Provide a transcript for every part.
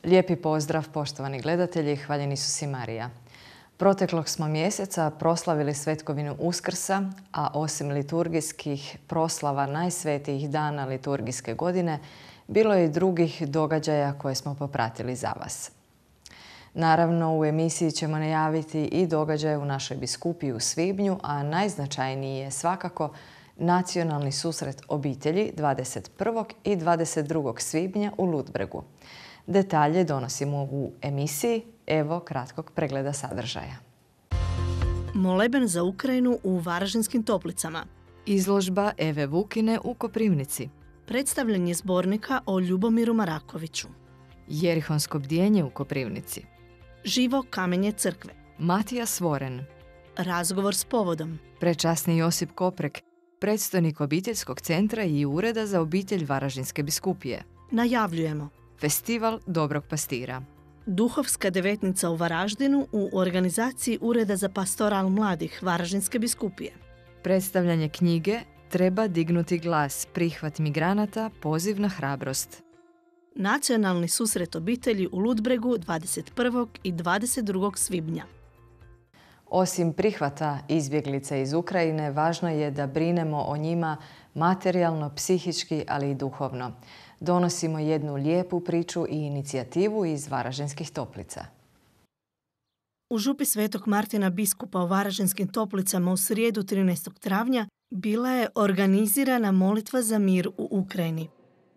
Lijepi pozdrav, poštovani gledatelji, hvaljeni Isus i Marija. Proteklog smo mjeseca proslavili svetkovinu Uskrsa, a osim liturgijskih proslava najsvetijih dana liturgijske godine, bilo je i drugih događaja koje smo popratili za vas. Naravno, u emisiji ćemo najaviti i događaje u našoj biskupiji u svibnju, a najznačajniji je svakako nacionalni susret obitelji 21. i 22. svibnja u Ludbregu. Detalje donosimo u emisiji. Evo kratkog pregleda sadržaja. Moleben za Ukrajinu u Varaždinskim Toplicama. Izložba Eve Vukine u Koprivnici. Predstavljanje zbornika o Ljubomiru Marakoviću. Jerihonsko bdjenje u Koprivnici. Živo kamenje crkve. Matija Svoren. Razgovor s povodom. Prečasni Josip Koprek, predstojnik obiteljskog centra i ureda za obitelj Varaždinske biskupije. Najavljujemo Festival Dobrog pastira. Duhovska devetnica u Varaždinu u organizaciji Ureda za pastoral mladih Varaždinske biskupije. Predstavljanje knjige Treba dignuti glas, prihvat migranata, poziv na hrabrost. Nacionalni susret obitelji u Ludbregu 21. i 22. svibnja. Osim prihvata izbjeglica iz Ukrajine, važno je da brinemo o njima materijalno, psihički, ali i duhovno. Donosimo jednu lijepu priču i inicijativu iz Varaždinskih Toplica. U župi Svetog Martina biskupa u Varaždinskim Toplicama u srijedu 13. travnja bila je organizirana molitva za mir u Ukrajini.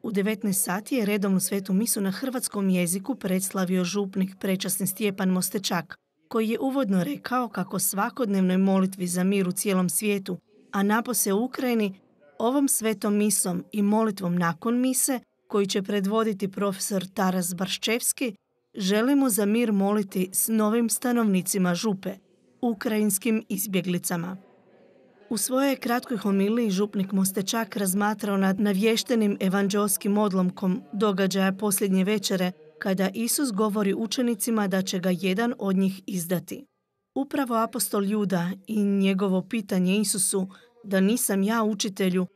U 19 sati je redovnu svetu misu na hrvatskom jeziku predslavio župnik prečasni Stjepan Mostečak, koji je uvodno rekao kako svakodnevnoj molitvi za mir u cijelom svijetu, a napose u Ukrajini, ovom svetom misom i molitvom nakon mise, koji će predvoditi profesor Taras Barščevski, želimo za mir moliti s novim stanovnicima župe, ukrajinskim izbjeglicama. U svojoj kratkoj homiliji župnik Mostečak razmatrao nad navještenim evanđeoskim odlomkom događaja posljednje večere, kada Isus govori učenicima da će ga jedan od njih izdati. Upravo apostol Juda i njegovo pitanje Isusu da nisam ja učitelju,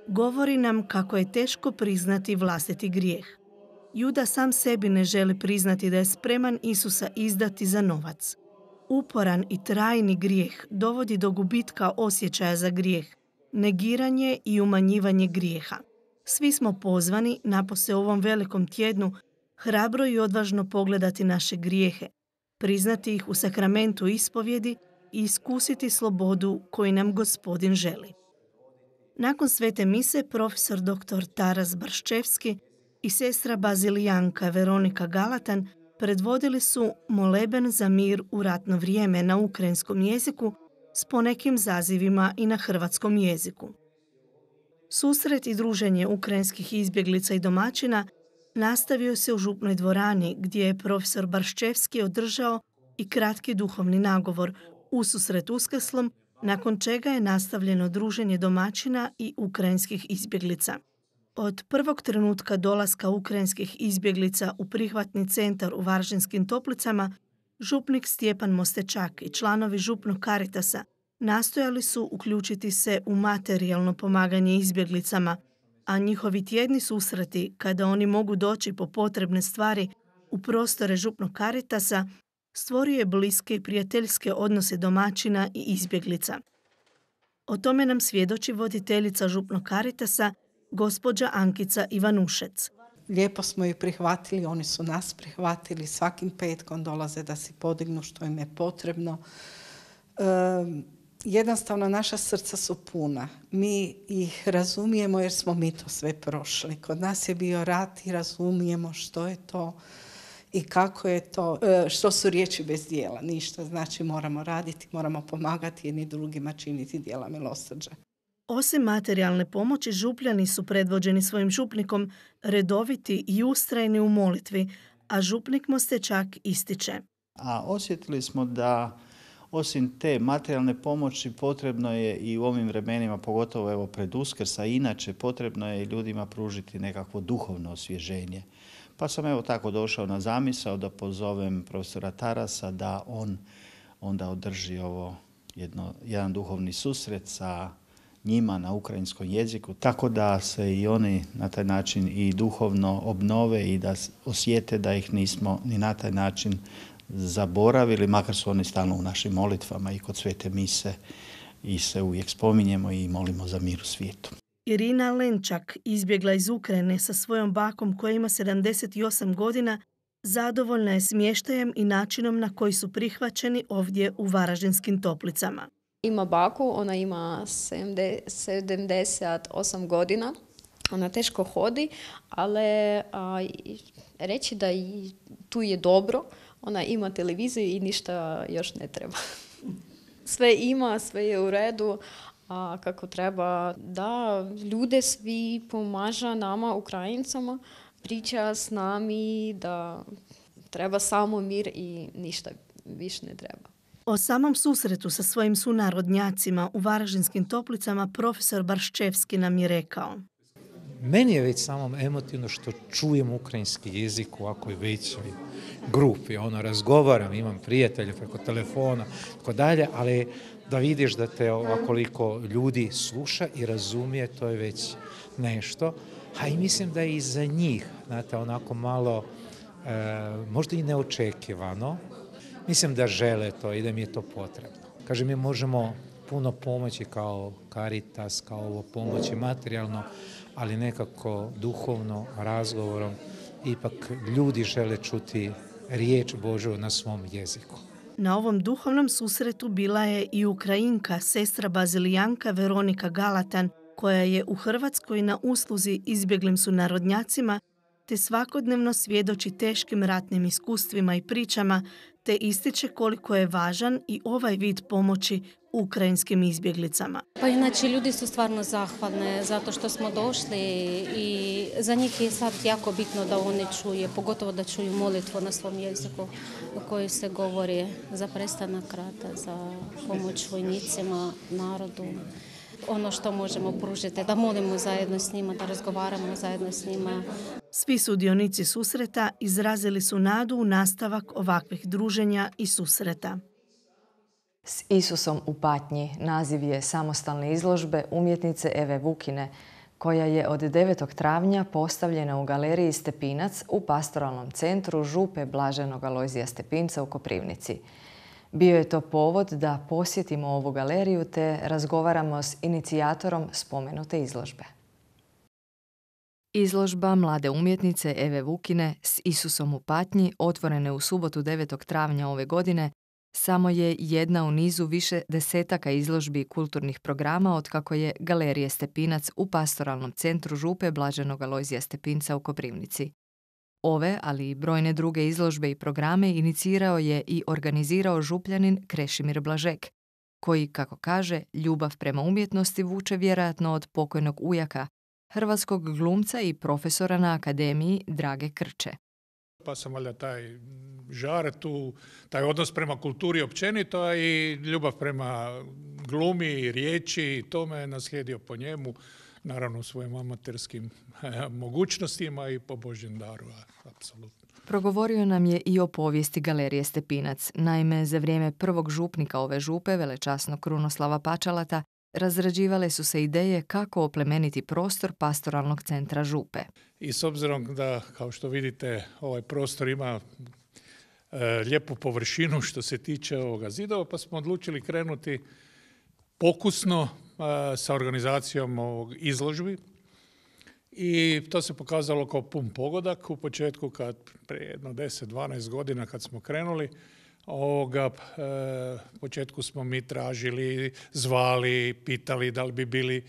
govori nam kako je teško priznati vlastiti grijeh. Juda sam sebi ne želi priznati da je spreman Isusa izdati za novac. Uporan i trajni grijeh dovodi do gubitka osjećaja za grijeh, negiranje i umanjivanje grijeha. Svi smo pozvani, napose u ovom velikom tjednu, hrabro i odvažno pogledati naše grijehe, priznati ih u sakramentu ispovjedi i iskusiti slobodu koju nam Gospodin želi. Nakon svete mise, profesor dr. Taras Barščevski i sestra bazilijanka Veronika Galatan predvodili su moleben za mir u ratno vrijeme na ukrajinskom jeziku s ponekim zazivima i na hrvatskom jeziku. Susret i druženje ukrajinskih izbjeglica i domaćina nastavio se u župnoj dvorani gdje je profesor Barščevski održao i kratki duhovni nagovor ususret Uskrslom, nakon čega je nastavljeno druženje domaćina i ukrajinskih izbjeglica. Od prvog trenutka dolaska ukrajinskih izbjeglica u prihvatni centar u Varaždinskim Toplicama, župnik Stjepan Mostečak i članovi župnog Karitasa nastojali su uključiti se u materijalno pomaganje izbjeglicama, a njihovi tjedni susreti, kada oni mogu doći po potrebne stvari u prostore župnog Karitasa, stvorio je bliske i prijateljske odnose domaćina i izbjeglica. O tome nam svjedoči voditeljica župnog Karitasa, gospođa Ankica Ivanušec. Lijepo smo ih prihvatili, oni su nas prihvatili, svakim petkom dolaze da si podignu što im je potrebno. Jednostavno naša srca su puna. Mi ih razumijemo jer smo mi to sve prošli. Kod nas je bio rat i razumijemo što je to i kako je to, što su riječi bez djela. Ništa, znači moramo raditi, moramo pomagati jedni drugima, činiti djela milosrđa. Osim materijalne pomoći, župljani su predvođeni svojim župnikom redoviti i ustrajni u molitvi, a župnik Mostečak ističe. A osjetili smo da osim te materijalne pomoći potrebno je i u ovim vremenima, pogotovo evo pred Uskrs, a inače potrebno je ljudima pružiti nekakvo duhovno osvježenje. Pa sam evo tako došao na zamisao da pozovem profesora Tarasa da on onda održi ovo jedan duhovni susret sa njima na ukrajinskom jeziku, tako da se i oni na taj način i duhovno obnove i da osjete da ih nismo ni na taj način zaboravili, makar su oni stalno u našim molitvama i kod svete mise i se uvijek spominjemo i molimo za mir u svijetu. Irina Lenčak izbjegla iz Ukrajine sa svojom bakom koja ima 78 godina, zadovoljna je smještajem i načinom na koji su prihvaćeni ovdje u Varaždinskim Toplicama. Ima baku, ona ima 78 godina, ona teško hodi, ali reći da i tu je dobro, ona ima televiziju i ništa još ne treba. Sve ima, sve je u redu, kako treba. Da, ljude svi pomažu nama, Ukrajincama, priča s nami da treba samo mir i ništa više ne treba. O samom susretu sa svojim sunarodnjacima u Varaždinskim Toplicama profesor Barščevski nam je rekao. Meni je već samo emotivno što čujem ukrajinski jezik u ovakvoj većoj grupi. Razgovaram, imam prijatelje preko telefona, tako dalje, ali da vidiš da te ovoliko ljudi sluša i razumije, to je već nešto. A i mislim da je i za njih, znate, onako malo, možda i neočekivano. Mislim da žele to i da mi je to potrebno. Kažem, mi možemo puno pomoći kao Caritas, kao ovo pomoći materijalno, ali nekako duhovno, razgovorom, ipak ljudi žele čuti riječ Božju na svom jeziku. Na ovom duhovnom susretu bila je i Ukrajinka, sestra bazilijanka Veronika Galatan, koja je u Hrvatskoj na usluzi izbjeglim sunarodnjacima, te svakodnevno svjedoči teškim ratnim iskustvima i pričama, te ističe koliko je važan i ovaj vid pomoći ukrajinskim izbjeglicama. Pa inače, ljudi su stvarno zahvalne zato što smo došli i za njih je sad jako bitno da oni čuje, pogotovo da čuju molitvu na svom jeziku u kojoj se govori za prestanak rata, za pomoć vojnicima, narodu. Ono što možemo pružiti, da molimo zajedno s njima, da razgovaramo zajedno s njima. Svi sudionici susreta izrazili su nadu u nastavak ovakvih druženja i susreta. S Isusom u patnji naziv je samostalne izložbe umjetnice Eve Vukine, koja je od 9. travnja postavljena u galeriji Stepinac u pastoralnom centru Župe Blaženog Alojzija Stepinca u Koprivnici. Bio je to povod da posjetimo ovu galeriju te razgovaramo s inicijatorom spomenute izložbe. Izložba mlade umjetnice Eve Vukine S Isusom u patnji, otvorene u subotu 9. travnja ove godine, samo je jedna u nizu više desetaka izložbi i kulturnih programa otkako je Galerije Stepinac u pastoralnom centru Župe Blaženog Alojzija Stepinca u Koprivnici. Ove, ali i brojne druge izložbe i programe inicirao je i organizirao župljanin Krešimir Blažek, koji, kako kaže, ljubav prema umjetnosti vuče vjerojatno od pokojnog ujaka, hrvatskog glumca i profesora na akademiji Drage Krče. Pa sam valjda taj žar tu, taj odnos prema kulturi općenito, a i ljubav prema glumi, riječi, to me je naslijedio po njemu, naravno u svojim amaterskim mogućnostima i po Božjem daru, apsolutno. Progovorio nam je i o povijesti Galerije Stepinac. Naime, za vrijeme prvog župnika ove župe, velečasnog Krunoslava Pačalata, razrađivale su se ideje kako oplemeniti prostor pastoralnog centra Župe. I s obzirom da, kao što vidite, ovaj prostor ima lijepu površinu što se tiče ovoga zidova, pa smo odlučili krenuti pokusno sa organizacijom ovog izložbi. I to se pokazalo kao pun pogodak u početku, prije jedno 10-12 godina kad smo krenuli. U početku smo mi tražili, zvali, pitali da li bi bili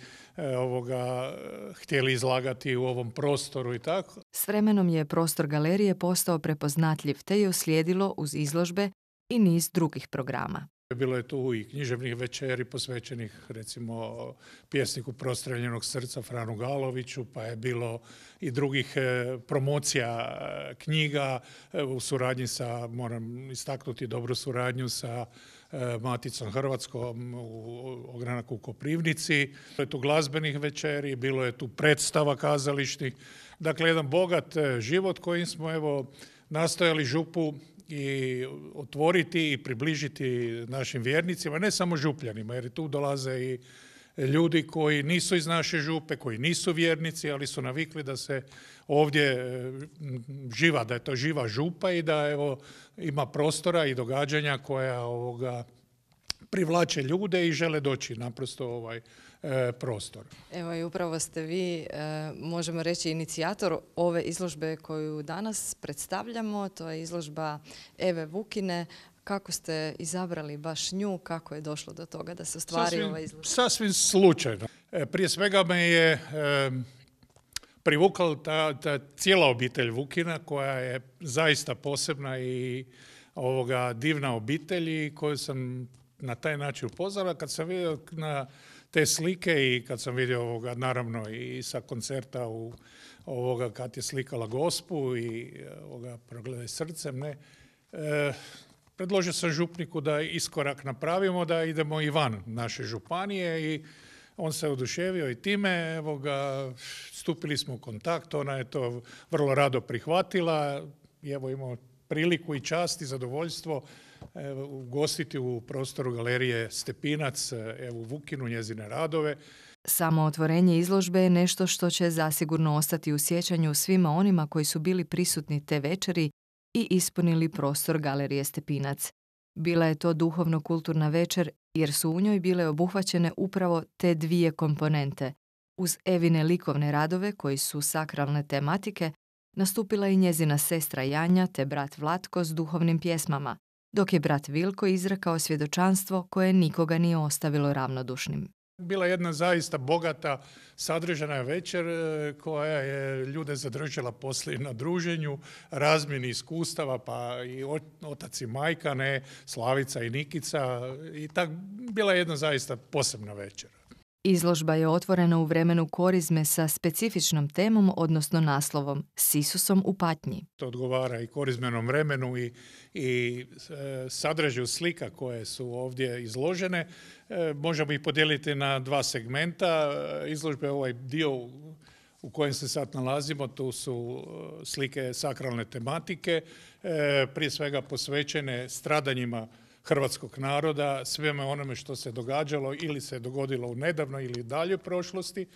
htjeli izlagati u ovom prostoru i tako. S vremenom je prostor galerije postao prepoznatljiv te je uslijedilo uz izložbe i niz drugih programa. Bilo je tu i književnih večeri posvećenih recimo pjesniku Prostreljenog srca Franu Galoviću, pa je bilo i drugih promocija knjiga u suradnji sa, moram istaknuti dobru suradnju sa Maticom Hrvatskom u ogranak u Koprivnici. Bilo je tu glazbenih večeri, bilo je tu predstava kazališnih. Dakle, jedan bogat život kojim smo nastojali župu i otvoriti i približiti našim vjernicima, ne samo župljanima, jer tu dolaze i ljudi koji nisu iz naše župe, koji nisu vjernici, ali su navikli da se ovdje živa, da je to živa župa i da ima prostora i događanja koja privlače ljude i žele doći naprosto u ovaj prostor. Evo i upravo ste vi, možemo reći, inicijator ove izložbe koju danas predstavljamo. To je izložba Eve Vukine. Kako ste izabrali baš nju? Kako je došlo do toga da se ostvari ova izložba? Sasvim slučajno. Prije svega me je privukala ta cijela obitelj Vukina koja je zaista posebna i divna obitelj i koju sam na taj način upoznala. Kad sam vidio na te slike i kad sam vidio naravno i sa koncerta kad je slikala Gospu i Progledaj srcem, predložio sam župniku da iskorak napravimo, da idemo i van naše županije i on se oduševio i time, stupili smo u kontakt, ona je to vrlo rado prihvatila i imao priliku i čast i zadovoljstvo ugostiti u prostoru galerije Stepinac Evu Vukinu, njezine radove. Samo otvorenje izložbe je nešto što će zasigurno ostati u sjećanju svima onima koji su bili prisutni te večeri i ispunili prostor galerije Stepinac. Bila je to duhovno-kulturna večer jer su u njoj bile obuhvaćene upravo te dvije komponente. Uz Evine likovne radove koji su sakralne tematike, nastupila i njezina sestra Janja te brat Vlatko s duhovnim pjesmama, dok je brat Vilko izrekao svjedočanstvo koje nikoga nije ostavilo ravnodušnim. Bila je jedna zaista bogata, sadržana večer koja je ljude zadržala poslije na druženju, razmjeni iskustava, pa i otac i majka, Slavica i Nikica. I tak bila je jedna zaista posebna večer. Izložba je otvorena u vremenu korizme sa specifičnom temom, odnosno naslovom S Isusom u patnji. To odgovara i korizmenom vremenu i sadržaju slika koje su ovdje izložene. Možemo ih podijeliti na dva segmenta. Izložbe ovaj dio u kojem se sad nalazimo, tu su slike sakralne tematike, prije svega posvećene stradanjima hrvatskog naroda, sveme onome što se događalo ili se dogodilo u nedavnoj ili daljoj prošlosti,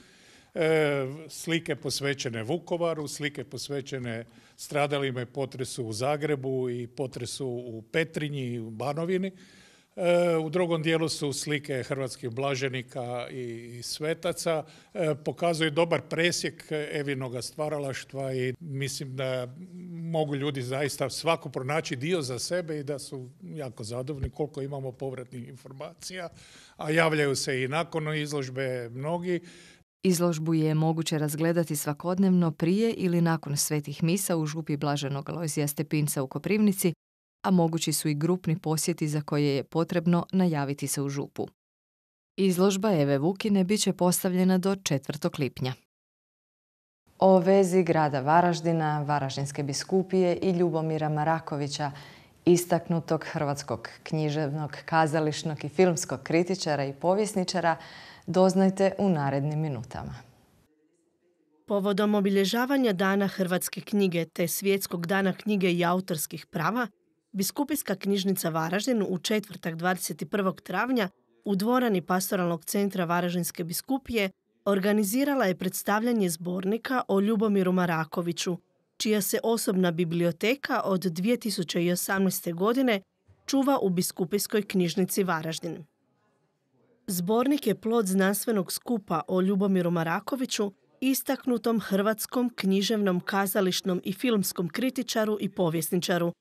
slike posvećene Vukovaru, slike posvećene stradalima i potresu u Zagrebu i potresu u Petrinji i u Banovini. U drugom dijelu su slike hrvatskih blaženika i svetaca. Pokazuje dobar presjek Evinoga stvaralaštva i mislim da mogu ljudi zaista svako pronaći dio za sebe i da su jako zadovoljni koliko imamo povratnih informacija, a javljaju se i nakon izložbe mnogi. Izložbu je moguće razgledati svakodnevno prije ili nakon svetih misa u župi Blaženog Alojzija Stepinca u Koprivnici, a mogući su i grupni posjeti za koje je potrebno najaviti se u župu. Izložba Eve Vukine bit će postavljena do 4. lipnja. O vezi grada Varaždina, Varaždinske biskupije i Ljubomira Marakovića, istaknutog hrvatskog književnog, kazališnog i filmskog kritičara i povjesničara, doznajte u narednim minutama. Povodom obilježavanja Dana hrvatske knjige te Svjetskog dana knjige i autorskih prava, Biskupijska knjižnica Varaždin u četvrtak 21. travnja u dvorani Pastoralnog centra Varaždinske biskupije organizirala je predstavljanje zbornika o Ljubomiru Marakoviću, čija se osobna biblioteka od 2018. godine čuva u Biskupijskoj knjižnici Varaždin. Zbornik je plod znanstvenog skupa o Ljubomiru Marakoviću, istaknutom hrvatskom književnom, kazališnom i filmskom kritičaru i povjesničaru,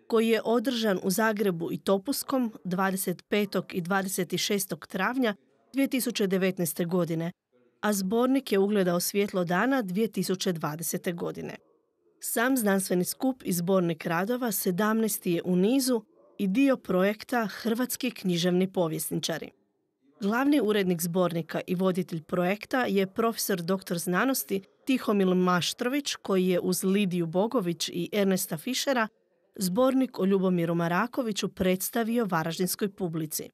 koji je održan u Zagrebu i Topuskom 25. i 26. travnja 2019. godine, a zbornik je ugledao svjetlo dana 2020. godine. Sam znanstveni skup i zbornik radova 17. je u nizu i dio projekta Hrvatski književni povjesničari. Glavni urednik zbornika i voditelj projekta je profesor dr. znanosti Tihomil Maštrović, koji je uz Lidiju Bogović i Ernesta Fišera zbornik o Ljubomiru Marakoviću predstavio varaždinskoj publici.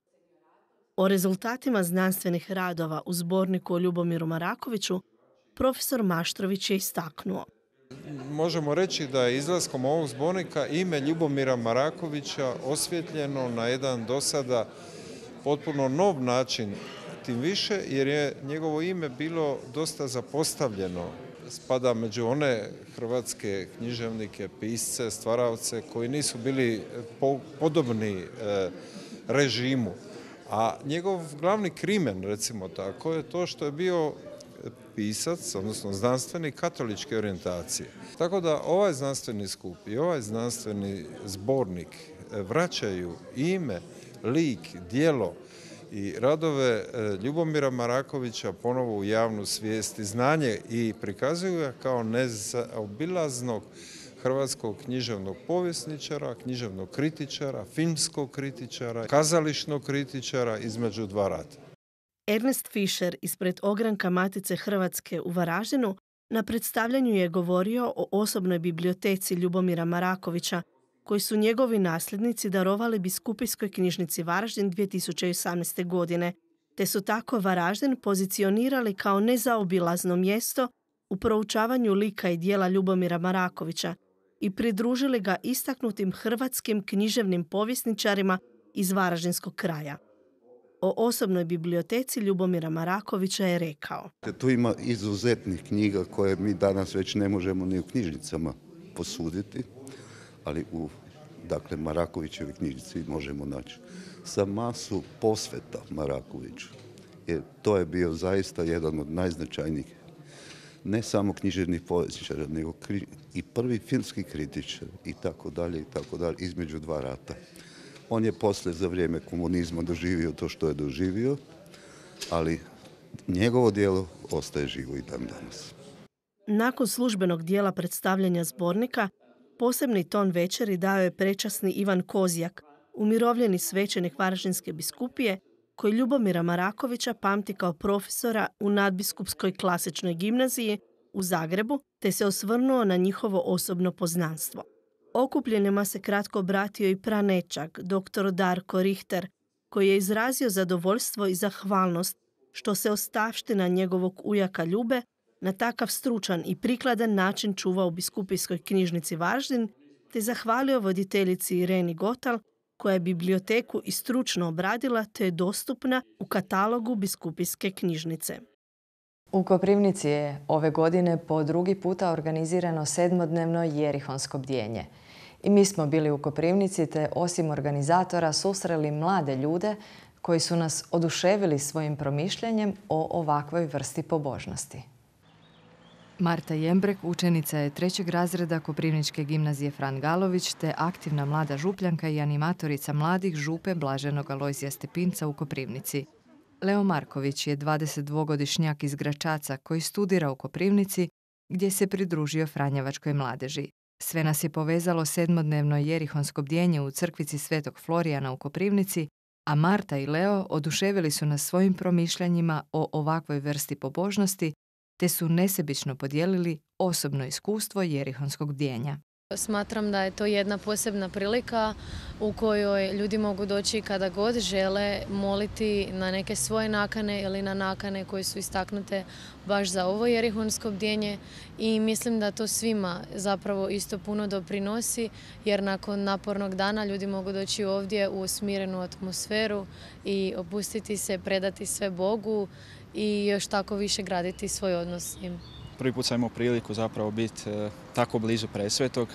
O rezultatima znanstvenih radova u zborniku o Ljubomiru Marakoviću profesor Maštrović je istaknuo. Možemo reći da je izlaskom ovog zbornika ime Ljubomira Marakovića osvjetljeno na jedan do sada potpuno nov način tim više jer je njegovo ime bilo dosta zapostavljeno. Spada među one hrvatske književnike, pisce, stvaravce koji nisu bili podobni režimu. A njegov glavni krimen, recimo tako, je to što je bio pisac, odnosno znanstvenik katoličke orijentacije. Tako da ovaj znanstveni skup i ovaj znanstveni zbornik vraćaju ime, lik, djelo i radove Ljubomira Marakovića ponovo u javnu svijest i znanje i prikazuju ga kao nezaobilaznog hrvatskog književnog povjesničara, književnog kritičara, filmskog kritičara, kazališnog kritičara između dva rata. Ernest Fischer ispred ogranka Matice Hrvatske u Varaždinu na predstavljanju je govorio o osobnoj biblioteci Ljubomira Marakovića, koji su njegovi nasljednici darovali Biskupijskoj knjižnici Varaždin 2018. godine, te su tako Varaždin pozicionirali kao nezaobilazno mjesto u proučavanju lika i djela Ljubomira Marakovića i pridružili ga istaknutim hrvatskim književnim povjesničarima iz Varaždinskog kraja. O osobnoj biblioteci Ljubomira Marakovića je rekao: Tu ima izuzetnih knjiga koje mi danas već ne možemo ni u knjižnicama posuditi, ali u Marakovićevoj knjižnici možemo naći sa masu posveta Marakoviću. Jer to je bio zaista jedan od najznačajnijih, ne samo književnih povjesničara, nego i prvi filmski kritičar i tako dalje, između dva rata. On je poslije za vrijeme komunizma doživio to što je doživio, ali njegovo djelo ostaje živo i dan danas. Nakon službenog dijela predstavljanja zbornika, posebni ton večeri dao je prečasni Ivan Kozjak, umirovljeni svećenik Varaždinske biskupije, koji Ljubomira Marakovića pamti kao profesora u Nadbiskupskoj klasičnoj gimnaziji u Zagrebu, te se osvrnuo na njihovo osobno poznanstvo. Okupljenima se kratko obratio i pranečak, dr. Darko Richter, koji je izrazio zadovoljstvo i zahvalnost što se ostavština njegovog ujaka Ljube na takav stručan i prikladan način čuva u Biskupijskoj knjižnici Varaždin, te zahvalio voditeljici Ireni Gotal, koja je biblioteku i stručno obradila te je dostupna u katalogu Biskupijske knjižnice. U Koprivnici je ove godine po drugi puta organizirano 7-dnevno jerihonsko bdjenje. I mi smo bili u Koprivnici te osim organizatora susreli mlade ljude koji su nas oduševili svojim promišljanjem o ovakvoj vrsti pobožnosti. Marta Jembrek učenica je 3. razreda Koprivničke gimnazije Fran Galović te aktivna mlada župljanka i animatorica mladih župe Blaženog Alojzija Stepinca u Koprivnici. Leo Marković je 22-godišnjak iz Gračaca koji studira u Koprivnici gdje se pridružio Franjevačkoj mladeži. Sve nas je povezalo 7-dnevno jerihonsko bdjenje u crkvici Svetog Florijana u Koprivnici, a Marta i Leo oduševili su nas svojim promišljanjima o ovakvoj vrsti pobožnosti te su nesebično podijelili osobno iskustvo jerihonskog bdjenja. Smatram da je to jedna posebna prilika u kojoj ljudi mogu doći kada god žele moliti na neke svoje nakane ili na nakane koje su istaknute baš za ovo jerihonsko bdjenje i mislim da to svima zapravo isto puno doprinosi jer nakon napornog dana ljudi mogu doći ovdje u smirenu atmosferu i opustiti se, predati sve Bogu i još tako više graditi svoj odnos s njim. Prvi put sam imao priliku zapravo biti tako blizu Presvetog,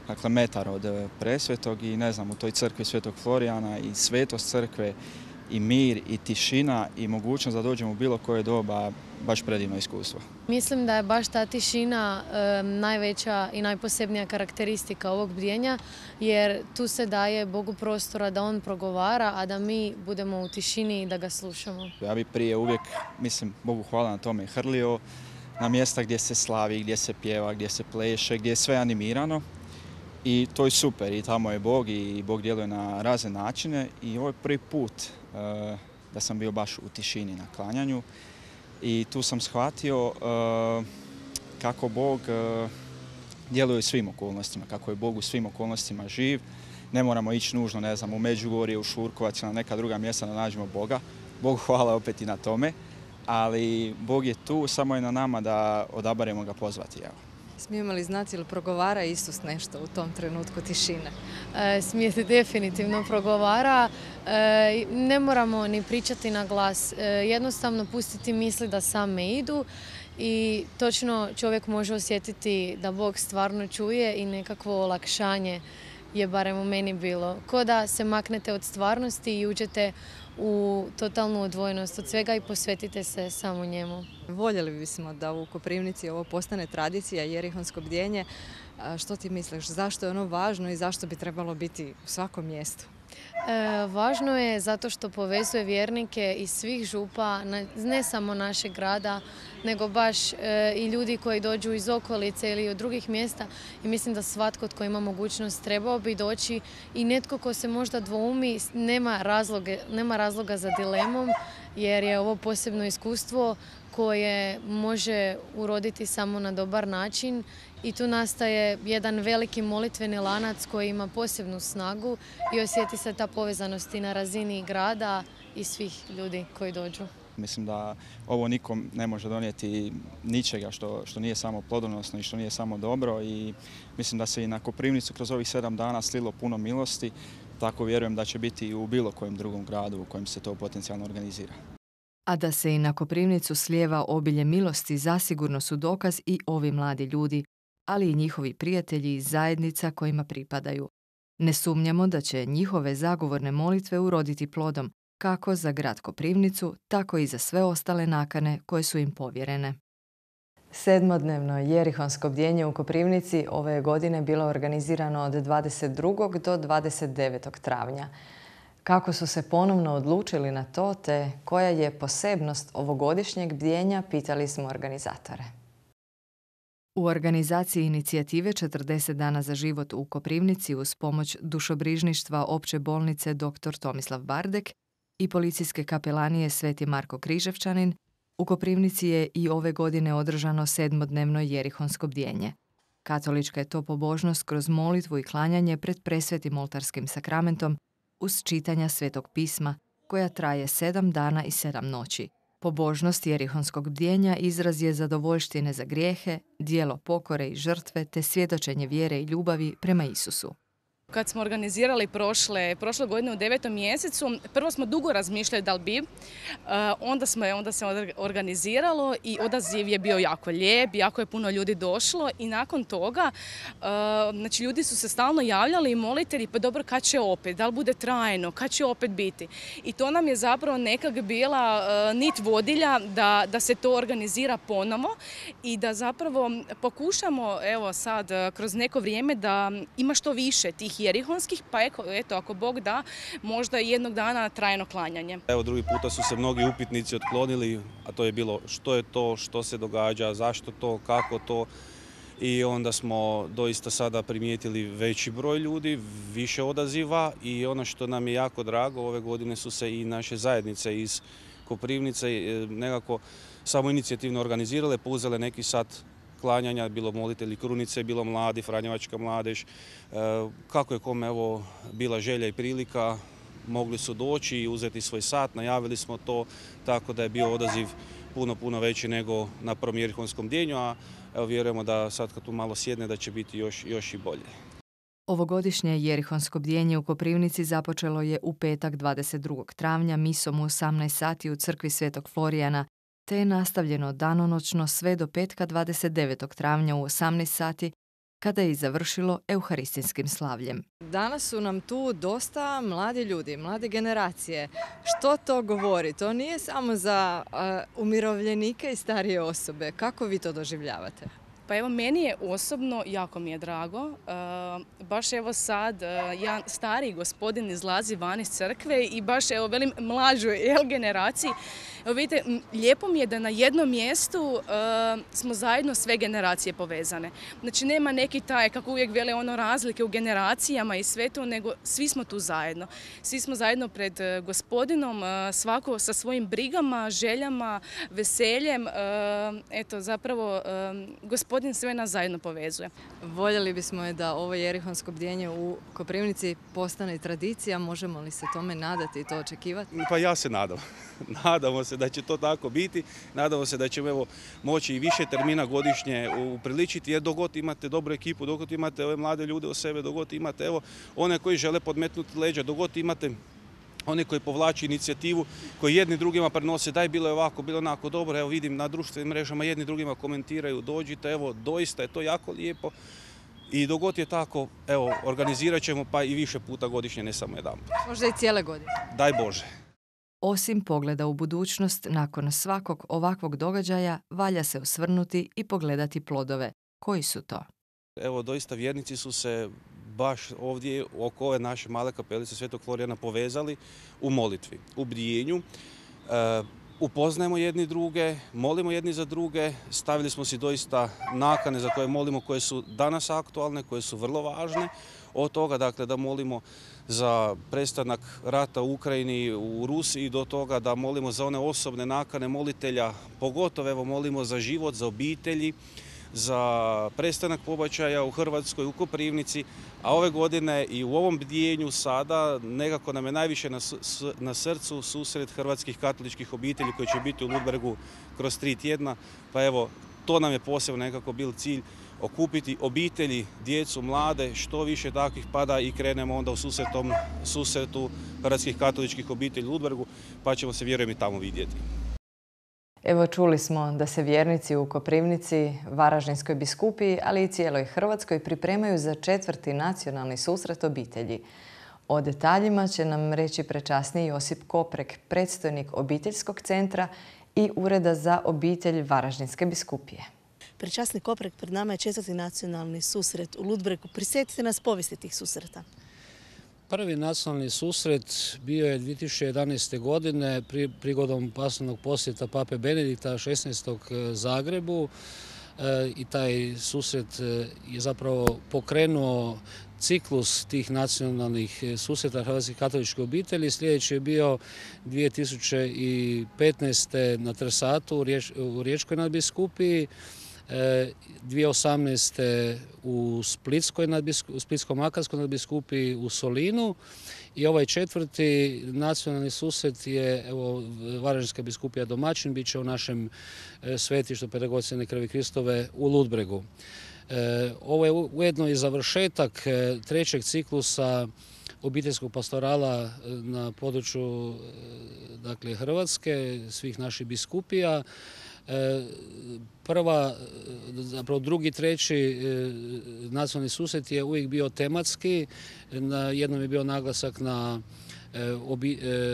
dakle metar od Presvetog i ne znam, u toj crkvi Svetog Florijana i svetost crkve i mir i tišina i mogućnost da dođemo u bilo koje doba, baš predivno iskustvo. Mislim da je baš ta tišina najveća i najposebnija karakteristika ovog bdjenja jer tu se daje Bogu prostora da On progovara, a da mi budemo u tišini i da ga slušamo. Ja bi prije uvijek, mislim, Bogu hvala na tome, hrlio na mjesta gdje se slavi, gdje se pjeva, gdje se pleše, gdje je sve animirano i to je super i tamo je Bog i Bog djeluje na razne načine i ovo je prvi put da sam bio baš u tišini na klanjanju i tu sam shvatio kako Bog djeluje u svim okolnostima, kako je Bog u svim okolnostima živ. Ne moramo ići nužno, ne znam, u Međugorje, u Šurkovac ili na neka druga mjesta da nađemo Boga. Bogu hvala opet i na tome. Ali Bog je tu, samo je na nama da odaberemo ga pozvati. Evo. Smijemo li znati ili progovara Isus nešto u tom trenutku tišine? Smije se definitivno progovara. Ne moramo ni pričati na glas. Jednostavno pustiti misli da same idu i točno čovjek može osjetiti da Bog stvarno čuje i nekakvo olakšanje je barem u meni bilo. Ko da se maknete od stvarnosti i uđete u totalnu odvojenost od svega i posvetite se samo njemu. Voljeli bismo da u Koprivnici ovo postane tradicija, jerihonsko bdjenje. Što ti misliš, zašto je ono važno i zašto bi trebalo biti u svakom mjestu? Važno je zato što povezuje vjernike iz svih župa, ne samo našeg grada, nego baš i ljudi koji dođu iz okolice ili od drugih mjesta. I mislim da svatko tko ima mogućnost trebao bi doći i netko ko se možda dvoumi nema razloga za dilemom, jer je ovo posebno iskustvo koje može uroditi samo na dobar način i tu nastaje jedan veliki molitveni lanac koji ima posebnu snagu i osjeti se ta povezanost i na razini grada i svih ljudi koji dođu. Mislim da ovo nikom ne može donijeti ničega što nije samo plodonosno i što nije samo dobro i mislim da se i na Koprivnicu kroz ovih 7 dana slilo puno milosti, tako vjerujem da će biti i u bilo kojem drugom gradu u kojem se to potencijalno organizira. A da se i na Koprivnicu slijeva obilje milosti zasigurno su dokaz i ovi mladi ljudi, ali i njihovi prijatelji iz zajednica kojima pripadaju. Ne sumnjamo da će njihove zagovorne molitve uroditi plodom, kako za grad Koprivnicu, tako i za sve ostale nakane koje su im povjerene. 7-dnevno jerihonsko bdjenje u Koprivnici ove je godine bilo organizirano od 22. do 29. travnja. Kako su se ponovno odlučili na to, te koja je posebnost ovogodišnjeg bdjenja, pitali smo organizatore. U organizaciji inicijative 40 dana za život u Koprivnici uz pomoć dušobrižništva Opće bolnice dr. Tomislav Bardek i policijske kapelanije Sveti Marko Križevčanin, u Koprivnici je i ove godine održano 7-dnevno jerihonsko bdjenje. Katolička je to pobožnost kroz molitvu i klanjanje pred presvetim oltarskim sakramentom uz čitanja Svetog pisma, koja traje 7 dana i 7 noći. Pobožnost jerihonskog bdjenja izraz je zadovoljštine za grijehe, djelo pokore i žrtve te svjedočenje vjere i ljubavi prema Isusu. Kad smo organizirali prošle godine u 9. mjesecu, prvo smo dugo razmišljali da li bi, onda se organiziralo i odaziv je bio jako lijep, jako je puno ljudi došlo i nakon toga znači ljudi su se stalno javljali i molitelji, pa dobro kad će opet, da li bude trajno, kad će opet biti. I to nam je zapravo nekak bila nit vodilja da se to organizira ponovo i da zapravo pokušamo evo sad kroz neko vrijeme da ima što više tih jerihonskih, pa eto, ako Bog da, možda i jednog dana trajno klanjanje. Evo, drugi puta su se mnogi upitnici otklonili, a to je bilo što je to, što se događa, zašto to, kako to. I onda smo doista sada primijetili veći broj ljudi, više odaziva i ono što nam je jako drago, ove godine su se i naše zajednice iz Koprivnice nekako samoinicijativno organizirale, pouzele neki sat klanjanja, bilo molitelji Krunice, bilo mladi, Franjevačka mladež. Kako je kome evo bila želja i prilika, mogli su doći i uzeti svoj sat, najavili smo to, tako da je bio odaziv puno veći nego na prvom jerihonskom bdjenju, a evo vjerujemo da sad kad tu malo sjedne da će biti još i bolje. Ovogodišnje jerihonsko bdjenje u Koprivnici započelo je u petak 22. travnja misom u 18 sati u crkvi Svetog Florijana, te je nastavljeno danonoćno sve do petka 29. travnja u 18 sati, kada je i završilo euharistijskim slavljem. Danas su nam tu dosta mladi ljudi, mlade generacije. Što to govori? To nije samo za umirovljenike i starije osobe. Kako vi to doživljavate? Pa evo, meni je osobno, jako mi je drago, baš evo sad jedan stariji gospodin izlazi van iz crkve i baš evo velim mlađoj generaciji. Evo vidite, lijepo mi je da na jednom mjestu smo zajedno sve generacije povezane. Znači nema neki taj, kako uvijek vele ono razlike u generacijama i sve to, nego svi smo tu zajedno. Svi smo zajedno pred gospodinom, svako sa svojim brigama, željama, veseljem. Eto, zapravo gospodin Gospodin sve nas zajedno povezuje. Voljeli bismo je da ovo jerihonsko bdjenje u Koprivnici postane tradicija. Možemo li se tome nadati i to očekivati? Pa ja se nadam. Nadamo se da će to tako biti. Nadamo se da ćemo moći i više termina godišnje upriličiti, jer dok god imate dobru ekipu, dok god imate ove mlade ljude u sebe, dok god imate one koji žele podmetnuti leđa, dok god imate oni koji povlači inicijativu, koji jedni drugima prenose, daj bilo je ovako, bilo onako dobro, evo vidim na društvenim mrežama jedni drugima komentiraju, dođite, evo doista je to jako lijepo i dok god je tako, evo organizirat ćemo pa i više puta godišnje, ne samo jedan. Možda i cijele godine. Daj Bože. Osim pogleda u budućnost, nakon svakog ovakvog događaja valja se osvrnuti i pogledati plodove. Koji su to? Evo doista vjernici su se baš ovdje oko ove naše male kapelice Svetog Florijana povezali u molitvi, u bdijenju. Upoznajemo jedni druge, molimo jedni za druge, stavili smo si doista nakane za koje molimo, koje su danas aktualne, koje su vrlo važne. Od toga dakle, da molimo za prestanak rata u Ukrajini, u Rusiji, do toga da molimo za one osobne nakane molitelja, pogotovo evo molimo za život, za obitelji, za prestanak pobačaja u Hrvatskoj, u Koprivnici, a ove godine i u ovom bdijenju sada nekako nam je najviše na srcu susret hrvatskih katoličkih obitelji koji će biti u Ludbregu kroz 3 tjedna. Pa evo, to nam je posebno nekako bil cilj, okupiti obitelji, djecu, mlade, što više takvih pada i krenemo onda u susretu hrvatskih katoličkih obitelji u Ludbregu, pa ćemo se vjerujem i tamo vidjeti. Evo čuli smo da se vjernici u Koprivnici, Varaždinskoj biskupiji, ali i cijeloj Hrvatskoj pripremaju za 4. nacionalni susret obitelji. O detaljima će nam reći prečasni Josip Koprek, predstojnik obiteljskog centra i Ureda za obitelj Varaždinske biskupije. Prečasni Koprek, pred nama je 4. nacionalni susret u Ludbregu. Prisjetite nas povijesti tih susreta. Prvi nacionalni susret bio je 2011. godine prigodom pasovnog posjeta Pape Benedikta XVI. Zagrebu i taj susret je zapravo pokrenuo ciklus tih nacionalnih susreta hrvatskih katoličkih obitelji. Sljedeći je bio 2015. na Trsatu u Riječkoj nadbiskupiji, 2018. u Splitsko-makarskoj nadbiskupiji u Solinu i ovaj 4. nacionalni susret je Varaždinska biskupija domaćin, bit će u našem svetištu Pedagogicene krvi Kristove u Ludbregu. Ovo je ujedno i završetak 3. ciklusa obiteljskog pastorala na području Hrvatske, svih naših biskupija. Drugi, 3. nacionalni susret je uvijek bio tematski. Na jednom je bio naglasak na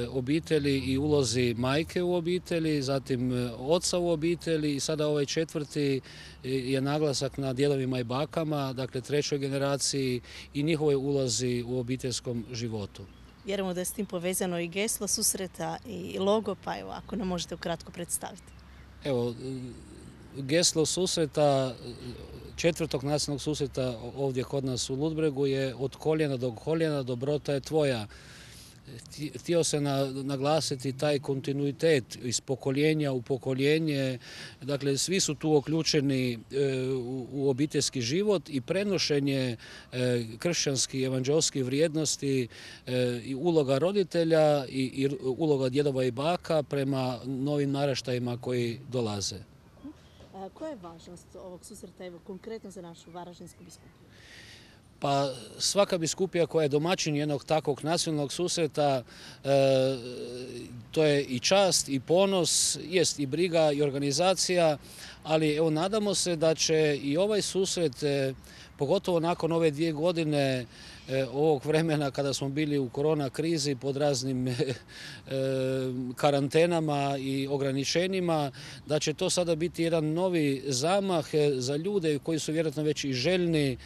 obitelji i ulozi majke u obitelji, zatim oca u obitelji i sada ovaj 4. je naglasak na djedovima i bakama, dakle 3. generaciji i njihovoj ulozi u obiteljskom životu. Vjerujemo da je s tim povezano i geslo susreta i logo, pa evo ako nam možete ukratko predstaviti. Evo, geslo susreta, 4. nacionalnog susreta ovdje kod nas u Ludbregu je od koljena do koljena, dobrota je tvoja. Htio se naglasiti taj kontinuitet iz pokoljenja u pokoljenje. Dakle, svi su tu uključeni u obiteljski život i prenošenje kršćanskih evanđelskih vrijednosti i uloga roditelja i uloga djedova i baka prema novim naraštajima koji dolaze. Koja je važnost ovog susreta konkretno za našu Varaždinsku biskupiju? Pa svaka biskupija koja je domaćin jednog takvog nacionalnog susreta, to je i čast i ponos, jest i briga i organizacija, ali evo nadamo se da će i ovaj susret, pogotovo nakon ove 2 godine ovog vremena kada smo bili u korona krizi pod raznim karantenama i ograničenjima, da će to sada biti jedan novi zamah za ljude koji su vjerojatno već i željni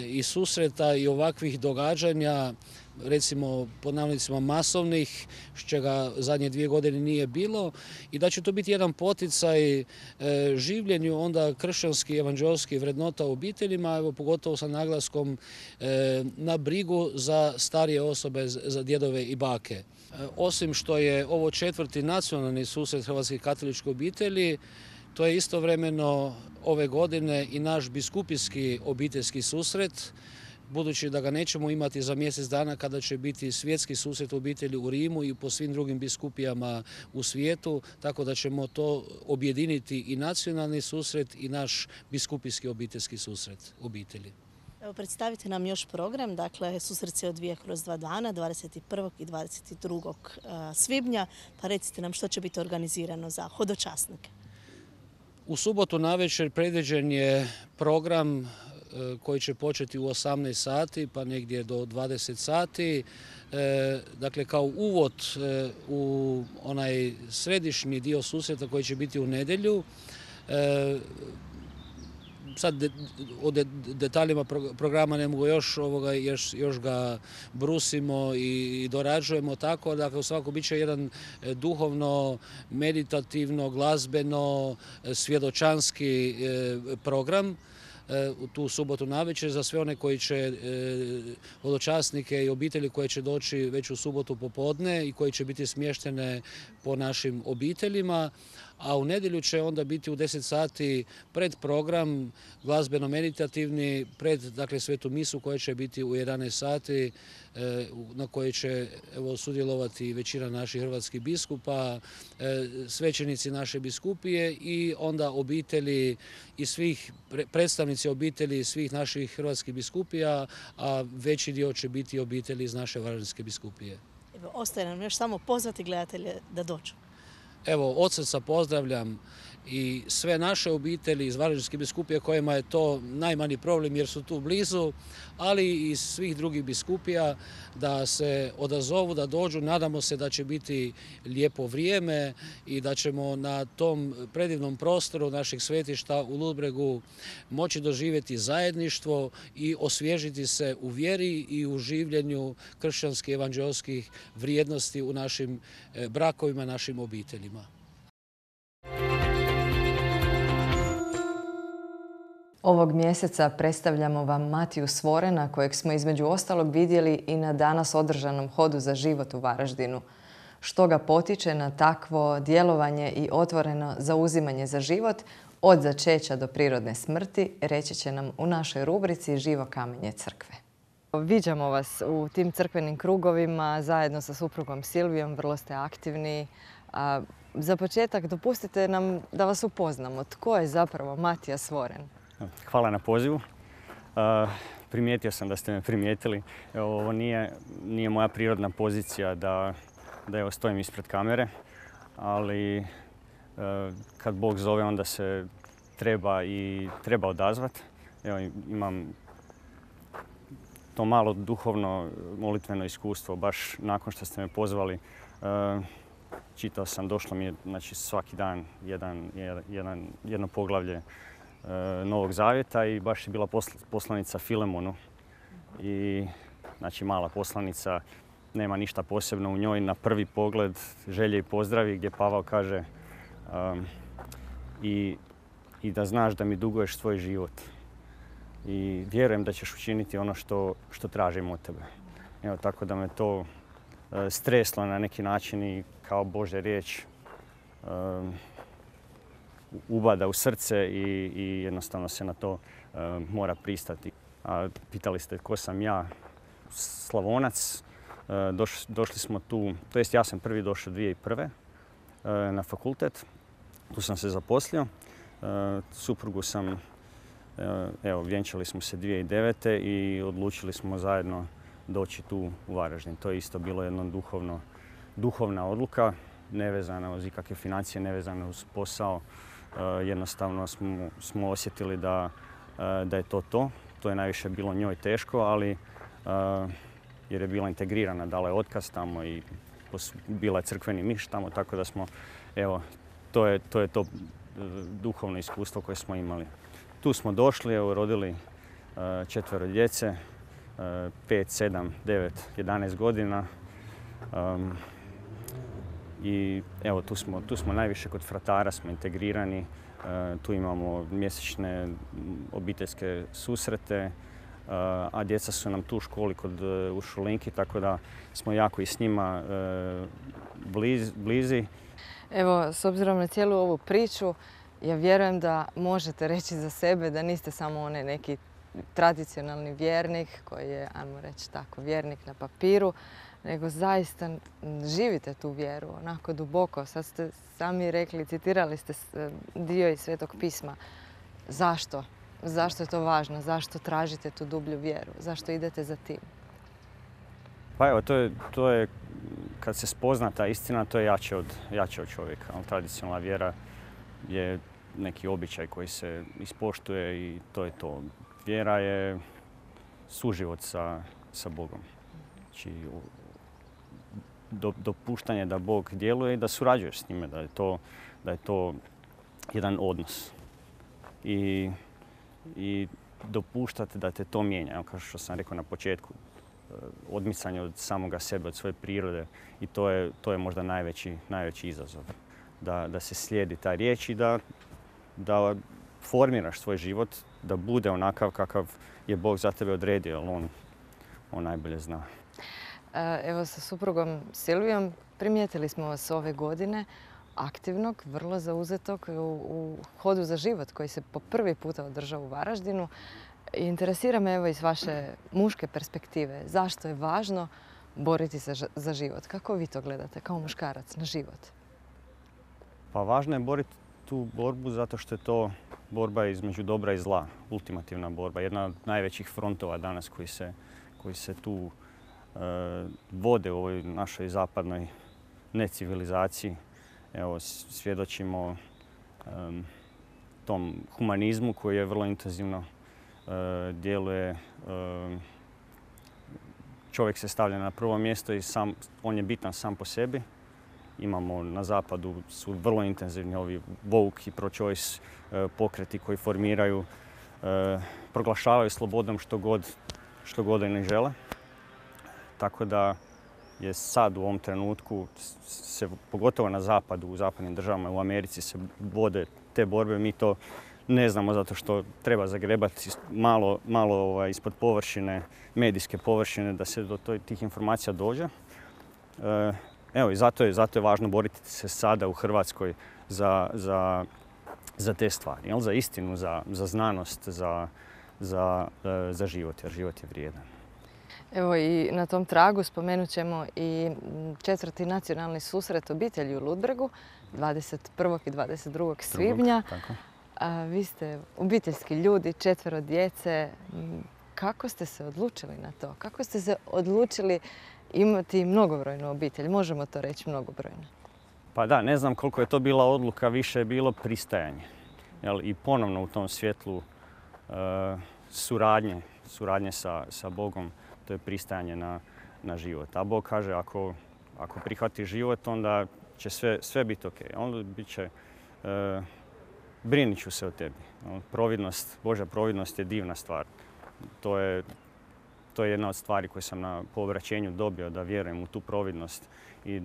i susreta i ovakvih događanja, recimo pod navodnicima masovnih, s čega zadnje 2 godine nije bilo, i da će to biti jedan poticaj življenju onda kršćanskih evanđelskih vrednota u obiteljima, evo pogotovo sa naglaskom na brigu za starije osobe, za djedove i bake. Osim što je ovo 4. nacionalni susret hrvatskih katoličkih obitelji, To je istovremeno ove godine i naš biskupijski obiteljski susret, budući da ga nećemo imati za mjesec dana kada će biti svjetski susret obitelji u Rimu i po svim drugim biskupijama u svijetu, tako da ćemo to objediniti i nacionalni susret i naš biskupijski obiteljski susret obitelji. Evo, predstavite nam još program, dakle susret se odvija kroz 2 dana, 21. i 22. svibnja, pa recite nam što će biti organizirano za hodočasnike. U subotu navečer predviđen je program koji će početi u 18 sati pa negdje do 20 sati. Dakle, kao uvod u onaj središnji dio susreta koji će biti u nedjelju. Sad o detaljima programa ne mogu još ga brusimo i dorađujemo tako. Dakle, u svakom bit će jedan duhovno, meditativno, glazbeno, svjedočanski program u tu subotu navečer za sve one koji će, hodočasnike i obitelji koje će doći već u subotu popodne i koji će biti smještene po našim obiteljima. A u nedjelju će onda biti u 10 sati pred program glazbeno-meditativni, pred svetu misu koja će biti u 11 sati na kojoj će sudjelovati većina naših hrvatskih biskupa, svećenici naše biskupije i onda obitelji i svih predstavnici obitelji svih naših hrvatskih biskupija, a veći dio će biti obitelji iz naše Varaždinske biskupije. Ostaje nam još samo pozvati gledatelje da dođu. Evo, od srca pozdravljam i sve naše obitelji iz Varaždinske biskupije kojima je to najmanji problem jer su tu blizu, ali i svih drugih biskupija da se odazovu, da dođu. Nadamo se da će biti lijepo vrijeme i da ćemo na tom predivnom prostoru našeg svetišta u Ludbregu moći doživjeti zajedništvo i osvježiti se u vjeri i u življenju kršćanskih evanđeoskih vrijednosti u našim brakovima, našim obiteljima. Ovog mjeseca predstavljamo vam Matiju Svorena, kojeg smo između ostalog vidjeli i na danas održanom hodu za život u Varaždinu. Što ga potiče na takvo djelovanje i otvoreno zauzimanje za život, od začeća do prirodne smrti, reći će nam u našoj rubrici Živo kamenje crkve. Viđamo vas u tim crkvenim krugovima zajedno sa suprugom Silvijom, vrlo ste aktivni. Za početak dopustite nam da vas upoznamo. Tko je zapravo Matija Svoren? Hvala na pozivu. Primijetio sam da ste me primijetili. Ovo nije moja prirodna pozicija da stojim ispred kamere, ali kad Bog zove onda se treba odazvati. Evo, imam to malo duhovno molitveno iskustvo. Baš nakon što ste me pozvali, čitao sam, došlo mi je svaki dan jedno poglavlje Novog Zavjeta i baš je bila poslanica Filemonu. I mala poslanica, nema ništa posebno u njoj. Na prvi pogled želje i pozdravi gdje Pavao kaže i da znaš da mi duguješ svoj život. I vjerujem da ćeš učiniti ono što tražim od tebe. Evo, tako da me to streslo na neki način i kao Božja riječ ubada u srce i jednostavno se na to mora pristati. Pitali ste tko sam ja, Slavonac. Došli smo tu, to jest ja sam prvi došao 2001. Na fakultet. Tu sam se zaposlio. Suprugu sam, vjenčali smo se 2009. i odlučili smo zajedno doći tu u Varaždin. To je isto bilo jedna duhovna odluka, nevezana uz ikakve financije, nevezana uz posao. Jednostavno smo osjetili da je to to. To je najviše bilo njoj teško, ali jer je bila integrirana, dala je otkaz tamo i bila je crkveni miš tamo, tako da smo, to je to duhovno iskustvo koje smo imali. Tu smo došli, rodili 4 djece, 5, 7, 9, 11 godina. I evo, tu smo najviše kod fratara, smo integrirani. Tu imamo mjesečne obiteljske susrete, a djeca su nam tu u školi u Šulinki, tako da smo jako i s njima blizi. Evo, s obzirom na cijelu ovu priču, Ja vjerujem da možete reći za sebe da niste samo onaj neki tradicionalni vjernik koji je, ajmo reći tako, vjernik na papiru, nego zaista živite tu vjeru onako duboko. Sad ste sami rekli, citirali ste dio iz Svetog pisma. Zašto? Zašto je to važno? Zašto tražite tu dublju vjeru? Zašto idete za tim? Pa evo, to je kad se spozna ta istina, to je jače od čovjeka. Tradicionalna vjera je neki običaj koji se ispoštuje i to je to. Vjera je suživot sa Bogom. Znači, dopuštanje da Bog djeluje i da surađuješ s njime, da je to jedan odnos. I dopuštati da te to mijenja. Kao što sam rekao na početku, odmicanje od samoga sebe, od svoje prirode i to je možda najveći izazov. Da se slijedi ta riječ i da formiraš svoj život, da bude onakav kakav je Bog za tebe odredio, jer on najbolje zna. Evo sa suprugom Silvijom primijetili smo vas ove godine aktivnog, vrlo zauzetog u Hodu za život koji se po prvi puta održao u Varaždinu. Interesira me evo iz vaše muške perspektive. Zašto je važno boriti se za život? Kako vi to gledate kao muškarac na život? Pa važno je boriti tu borbu zato što je to borba između dobra i zla, ultimativna borba. Jedna od najvećih frontova danas koji se tu vode u ovoj našoj zapadnoj necivilizaciji. Evo, svjedočimo tom humanizmu koji je vrlo intenzivno djeluje. Čovjek se stavlja na prvo mjesto i on je bitan sam po sebi. Imamo na zapadu su vrlo intenzivni ovi woke i pro-choice pokreti koji formiraju, proglašavaju slobodom što god i ne žele. Tako da je sad u ovom trenutku, pogotovo na zapadu, u zapadnim državama, u Americi se vode te borbe. Mi to ne znamo zato što treba zagrebati malo ispod površine, medijske površine, da se do tih informacija dođe. Evo i zato je važno boriti se sada u Hrvatskoj za te stvari, jel? Za istinu, za znanost, za život, jer život je vrijedan. Evo i na tom tragu spomenut ćemo i 4. nacionalni susret obitelji u Ludbregu 21. i 22. svibnja. Vi ste obiteljski ljudi, 4 djece. Kako ste se odlučili na to? Kako ste se odlučili imati mnogobrojnu obitelj? Možemo to reći mnogobrojno. Pa da, ne znam koliko je to bila odluka, više je bilo pristajanje. I ponovno u tom svjetlu suradnje sa Bogom, to je pristajanje na život. A Bog kaže ako prihvatiš život, onda će sve biti ok. Onda bit će, brinit ću se o tebi. Božja providnost je divna stvar. To je jedna od stvari koje sam na povraćenju dobio, da vjerujem u tu providnost i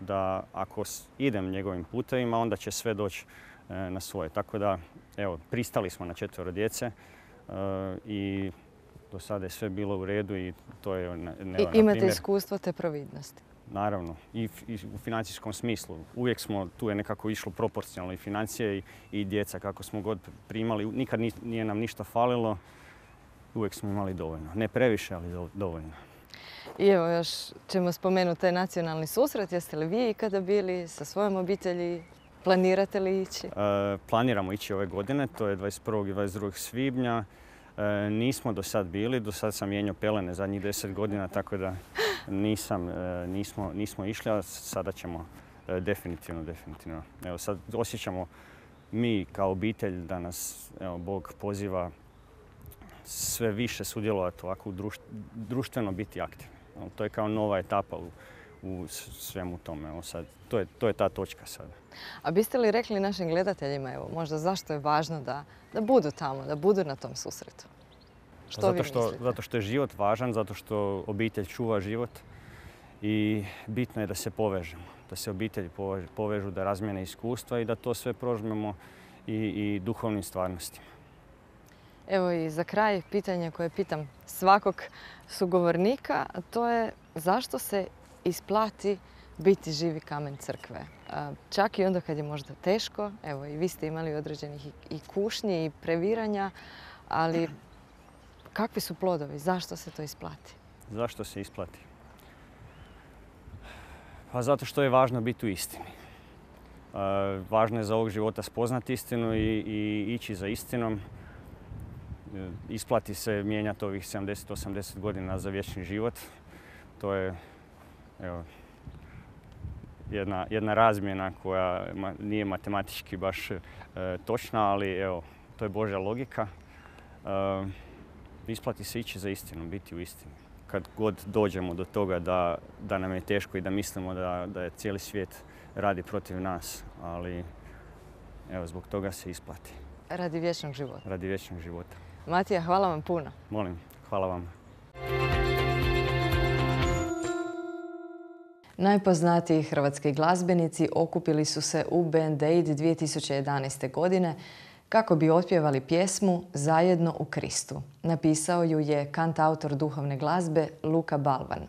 da ako idem njegovim putevima, onda će sve doći na svoje. Tako da, evo, pristali smo na 4 djece i do sada je sve bilo u redu i to je I imate iskustvo te providnosti? Naravno, i u financijskom smislu. Uvijek tu je nekako išlo proporcionalno i financije i djeca kako smo god primali. Nikad nije nam ništa falilo, uvijek smo imali dovoljno. Ne previše, ali dovoljno. I evo još ćemo spomenuti taj nacionalni susret. Jeste li vi ikada bili sa svojom obitelji? Planirate li ići? Planiramo ići ove godine, to je 21. i 22. svibnja. Nismo do sad bili, do sad sam mijenjao pelene zadnjih 10 godina, tako da nismo išli, a sada ćemo definitivno. Evo sad osjećamo mi kao obitelj da nas Bog poziva sve više sudjelovati ovako društveno biti aktivni. To je kao nova etapa u svemu tome. Evo sad, to je ta točka sada. A biste li rekli našim gledateljima, evo, možda zašto je važno da budu tamo, da budu na tom susretu? Što vi mislite? Zato što je život važan, zato što obitelj čuva život i bitno je da se povežemo, da se obitelji povežu, da razmijene iskustva i da to sve prožmemo i duhovnim stvarnostima. Evo i za kraj pitanje koje pitam svakog sugovornika, a to je zašto se isplati biti živi kamen crkve. Čak i onda kad je možda teško, evo i vi ste imali određenih i kušnji i previranja, ali kakvi su plodovi? Zašto se to isplati? Zašto se isplati? Pa zato što je važno biti u istini. Važno je za ovog života spoznati istinu i ići za istinom. Isplati se mijenjati ovih 70-80 godina za vječni život. To je jedna razmjena koja nije matematički baš točna, ali evo, to je Božja logika. Isplati se ići za istinom, biti u istini. Kad god dođemo do toga da nam je teško i da mislimo da je cijeli svijet radi protiv nas, ali evo, zbog toga se isplati. Radi vječnog života. Radi vječnog života. Matija, hvala vam puno. Molim, hvala vam. Najpoznatiji hrvatski glazbenici okupili su se u Band Aid 2011. godine kako bi otpjevali pjesmu Zajedno u Kristu. Napisao ju je kantautor duhovne glazbe Luka Balvan.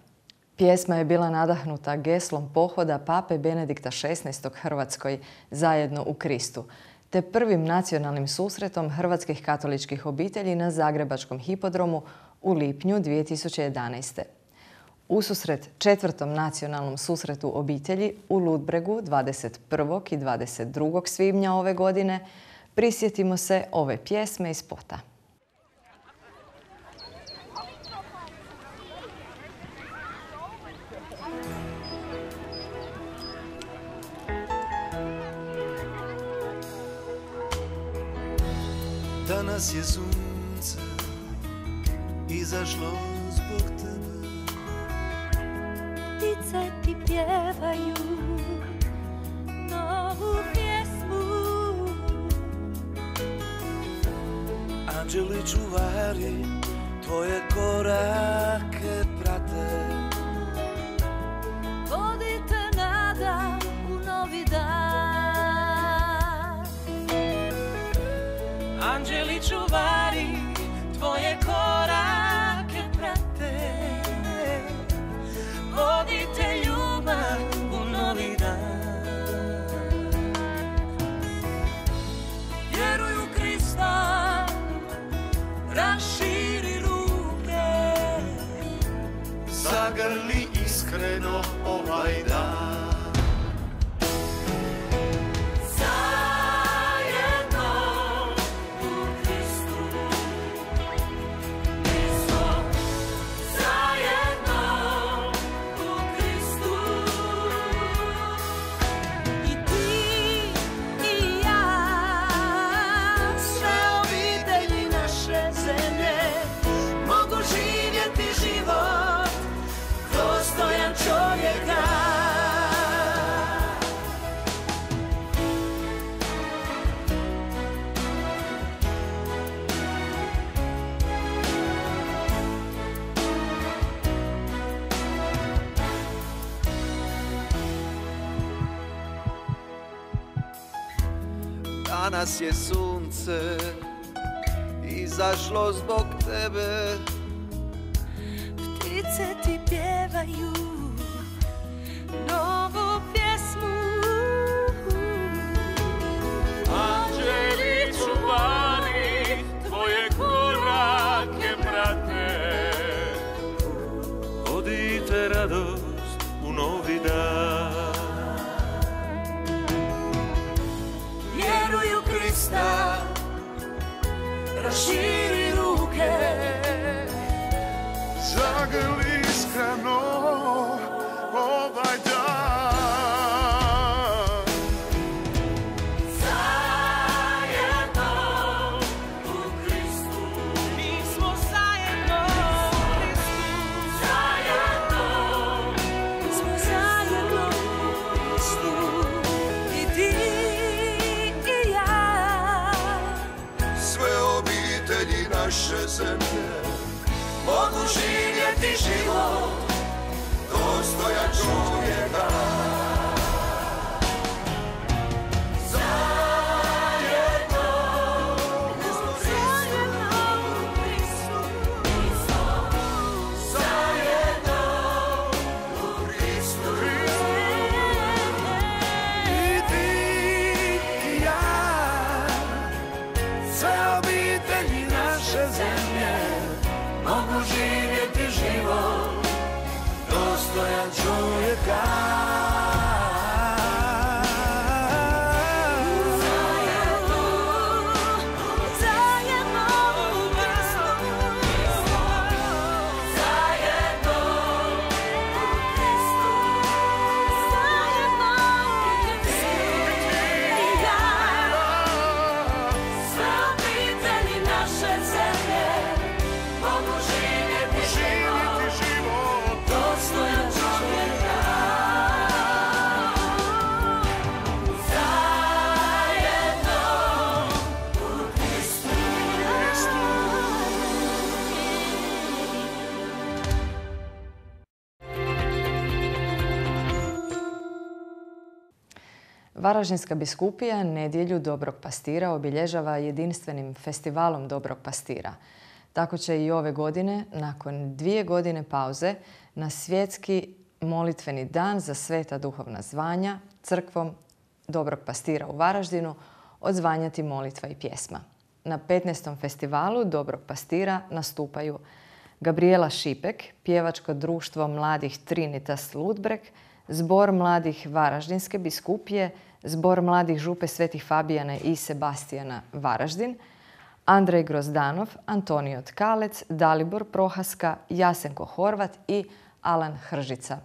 Pjesma je bila nadahnuta geslom pohoda Pape Benedikta XVI. Hrvatskoj Zajedno u Kristu, te prvim nacionalnim susretom hrvatskih katoličkih obitelji na Zagrebačkom hipodromu u lipnju 2011. Ususret 4. nacionalnom susretu obitelji u Ludbregu 21. i 22. svibnja ove godine prisjetimo se ove pjesme i spota. Danas je sunce izašlo zbog tebe. Ptice ti pjevaju novu pjesmu. Anđeli čuvari tvoje korake prate. Vodite nada u novi dan. Anđeli čuvari tvoje korake prate. Vodite ljubav u novi dan. Vjeruj u Krista, raširi ruke. Zagrli iskreno ovaj dan. Danas je sunce izašlo zbog tebe. Ptice ti pjevaju novu pjesmu. Anđeli čuvari tvoje korake prate. Vodite radost u novi dan. Vjeruj u Krista, raširi ruke. Zagrli iskreno ovaj dan. Zajedno u Kristu. Mi smo zajedno u Kristu. Zajedno. Mi smo zajedno u Kristu. I ti i ja. Sve obitelji naše zemlje mogu živjeti život dostojan čovjeka. Zajedno, mi smo zajedno u Kristu. Zajedno u Kristu. naše zemlje mogu živjeti život dostojan čovjeka. Varaždinska biskupija nedjelju Dobrog pastira obilježava jedinstvenim festivalom Dobrog pastira. Tako će i ove godine, nakon 2 godine pauze, na svjetski molitveni dan za sveta duhovna zvanja crkvom Dobrog pastira u Varaždinu odzvanjati molitva i pjesma. Na 15. festivalu Dobrog pastira nastupaju Gabriela Šipek, pjevačko društvo mladih Trinitas Ludbreg, Zbor mladih Varaždinske biskupije, Zbor mladih Župe Svetih Fabijana i Sebastijana Varaždin, Andrej Grozdanov, Antonio Tkalec, Dalibor Prohaska, Jasenko Horvat i Alan Hržica.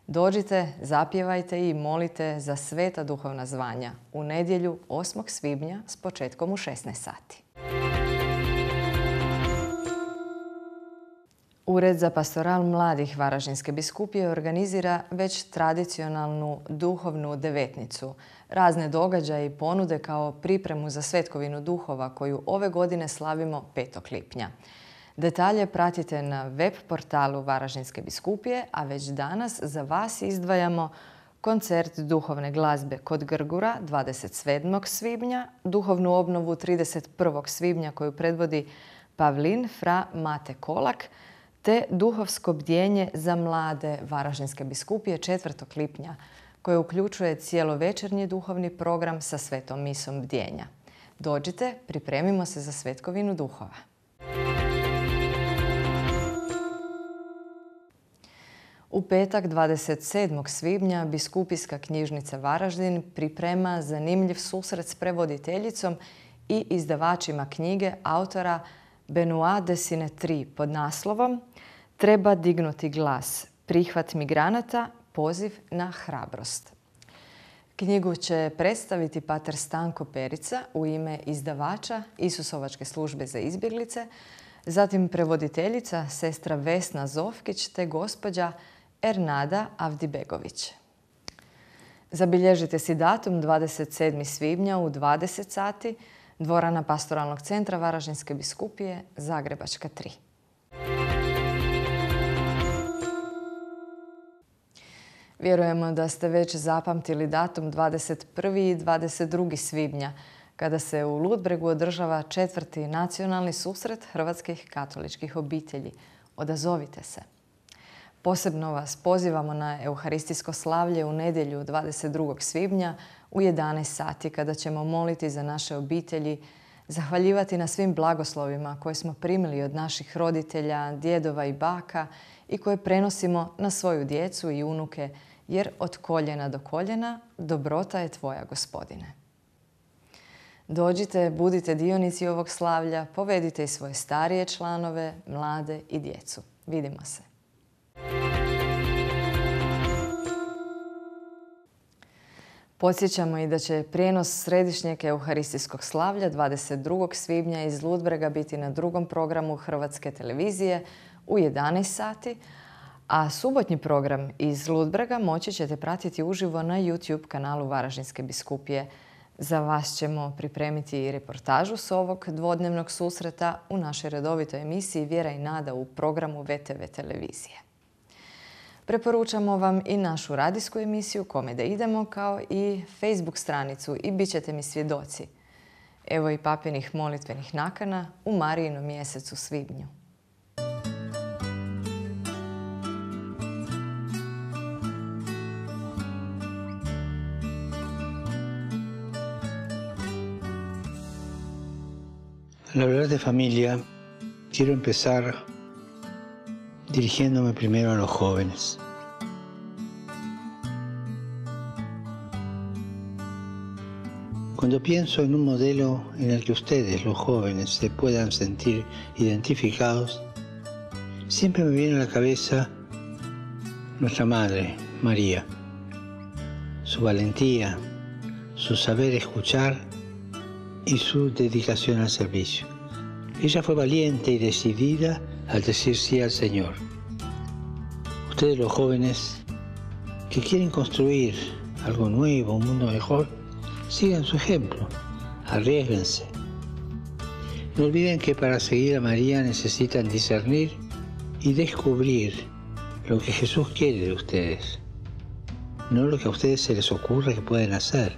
Dođite, zapjevajte i molite za sveta duhovna zvanja u nedjelju 8. svibnja s početkom u 16 sati. Ured za pastoral mladih Varaždinske biskupije organizira već tradicionalnu duhovnu devetnicu, razne događaje i ponude kao pripremu za Svetkovinu duhova koju ove godine slavimo 5. lipnja. Detalje pratite na web portalu Varaždinske biskupije, a već danas za vas izdvajamo koncert duhovne glazbe kod Grgura 27. svibnja, duhovnu obnovu 31. svibnja koju predvodi Pavlin fra Mate Kolak, te duhovsko bdjenje za mlade Varaždinske biskupije 4. lipnja, koje uključuje cijelovečernji duhovni program sa svetom misom bdjenja. Dođite, pripremimo se za Svetkovinu duhova. U petak 27. svibnja Biskupijska knjižnica Varaždin priprema zanimljiv susret s prevoditeljicom i izdavačima knjige autora Benoit de Sinetri pod naslovom Treba dignuti glas, prihvat migranata, poziv na hrabrost. Knjigu će predstaviti pater Stanko Perica u ime izdavača Isusovačke službe za izbjeglice, zatim prevoditeljica sestra Vesna Zovkić te gospođa Ernada Avdibegović. Zabilježite si datum 27. svibnja u 20 sati, dvorana Pastoralnog centra Varaždinske biskupije, Zagrebačka 3. Vjerujemo da ste već zapamtili datum 21. i 22. svibnja, kada se u Ludbregu održava 4. nacionalni susret hrvatskih katoličkih obitelji. Odazovite se. Posebno vas pozivamo na euharistijsko slavlje u nedjelju 22. svibnja u 11 sati kada ćemo moliti za naše obitelji, zahvaljivati na svim blagoslovima koje smo primili od naših roditelja, djedova i baka i koje prenosimo na svoju djecu i unuke, jer od koljena do koljena dobrota je tvoja, Gospodine. Dođite, budite dionici ovog slavlja, povedite i svoje starije članove, mlade i djecu. Vidimo se. Podsjećamo i da će prijenos središnjeg euharistijskog slavlja 22. svibnja iz Ludbrega biti na drugom programu Hrvatske televizije u 11 sati, a subotnji program iz Ludbrega moći ćete pratiti uživo na YouTube kanalu Varaždinske biskupije. Za vas ćemo pripremiti i reportažu s ovog dvodnevnog susreta u našoj redovitoj emisiji Vjera i nada u programu VTV televizije. Preporučamo vam i našu radijsku emisiju Kome da idemo, kao i Facebook stranicu i bit ćete mi svjedoci. Evo i papinih molitvenih nakana u Marijinom mjesecu svibnju. Al hablar de familia, Quiero empezar dirigiéndome primero a los jóvenes. Cuando pienso en un modelo en el que ustedes, los jóvenes, se puedan sentir identificados, siempre me viene a la cabeza nuestra madre, María. Su valentía, su saber escuchar y su dedicación al servicio. Ella fue valiente y decidida al decir sí al Señor. Ustedes, los jóvenes, que quieren construir algo nuevo, un mundo mejor, sigan su ejemplo, arriésguense. No olviden que para seguir a María necesitan discernir y descubrir lo que Jesús quiere de ustedes, no lo que a ustedes se les ocurre que pueden hacer.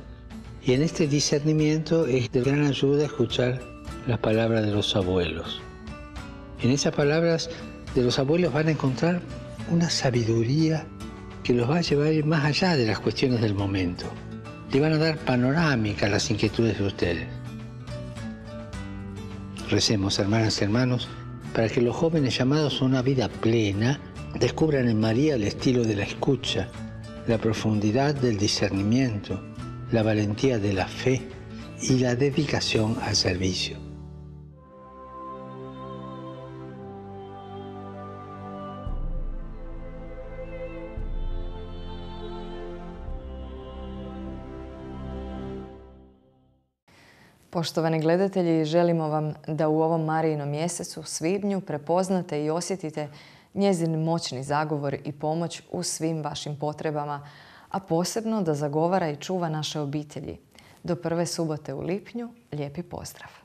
Y en este discernimiento es de gran ayuda escuchar las palabras de los abuelos. En esas palabras de los abuelos van a encontrar una sabiduría que los va a llevar a ir más allá de las cuestiones del momento. Le van a dar panorámica a las inquietudes de ustedes. Recemos, hermanas y hermanos, para que los jóvenes llamados a una vida plena descubran en María el estilo de la escucha, la profundidad del discernimiento, la valentía de la fe y la dedicación al servicio. Poštovani gledatelji, želimo vam da u ovom Marijinom mjesecu, svibnju, prepoznate i osjetite njezin moćni zagovor i pomoć u svim vašim potrebama, a posebno da zagovara i čuva naše obitelji. Do prve subote u lipnju, lijepi pozdrav!